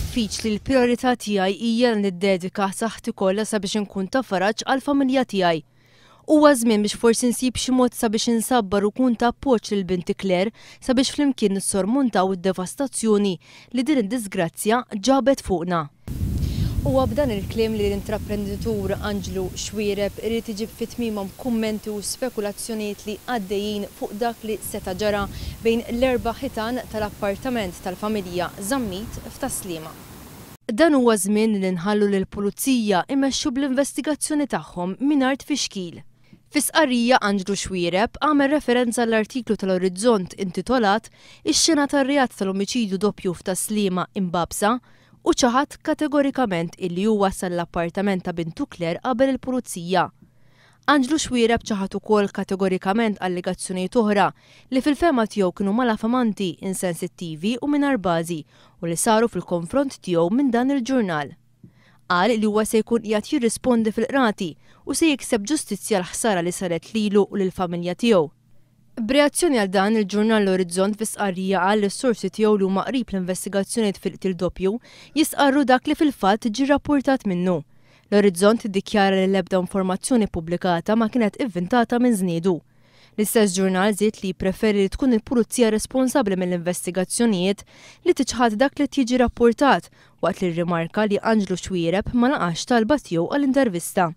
diffiċli l-prijorità tiegħi hija li niddedika saħħti kollha sabiex inkun ta' faraġ għall-familja tiegħi. Huwa żmien biex forsi nsib xi mod sabiex insabbar u nkun ta' appoġġ lil binti Claire sabiex flimkien nissormontaw id-devastazzjoni li din id-diżgrazzja ġabet fuqna. Huwa b'dan il-kliem li l-intraprenditur Anġlu Xuereb irid iġib fi tmiemhom kummenti u spekulazzjonijiet li għaddejjin fuq dak li seta' ġara bejn l-erba' ħitan tal-appartament tal-familja Zammit f'Tas-Sliema. Dan huwa żmien li nħallu lill-Pulizija imexxu bl-investigazzjoni tagħhom mingħajr tfixkil. Fi stqarrija Anġlu Xuereb għamel referenza għall-artiklu tal-Orizzont intitolat Ix-xena tar-reat tal-omiċidju doppju f'Tas-Sliema imbagħbsa u ċaħad kategorikament illi hu wassal l-appartament ta' bintu Claire qabel il-Pulizija. Anġlu Xuereb ċaħad ukoll kategorikament allegazzjonijiet oħra li fil-fehma tiegħu kienu malafamanti, insensittivi u mingħajr bażi u li saru fil-konfront tiegħu minn dan il-ġurnal. Qal li huwa se jkun qiegħed jirrispondi fil-qrati u se jikseb ġustizzja għall-ħsara li saret lilu u lill-familja tiegħu. B'reazzjoni għal dan, il-ġurnal L-Orizzont fi stqarrija qal li s-sorsi tiegħu li huma qrib l-investigazzjonijiet fil-qtil doppju jistqarru dak li fil-fatt ġie rrappurtat minnu. L-Orizzont iddikjara li l-ebda informazzjoni ppubblikata ma kienet ivvintata minn żniedu. L-istess ġurnal żied li jippreferi li tkun il-Pulizija responsabbli mill-investigazzjonijiet li tiċħad dak li qed jiġi rappurtat waqt li rrimarka li Anġlu Xuereb ma laqax talba tiegħu għal intervista.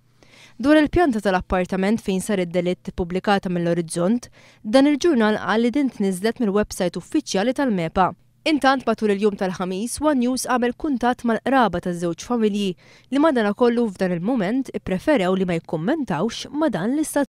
Dwar il-pjanta tal-appartament fejn sar id-delitt ippubblikata mill-Orizzont, dan il-ġurnal qal li din tniżżlet mill-websajt uffiċjali tal-MEPA. Intant matul il-jum tal-Ħamis, one News għamel kuntatt mal-qraba taż-żewġ familji li madanakollu f'dan il-mument ippreferew li ma jikkummentawx ma' dan l-istazzjon.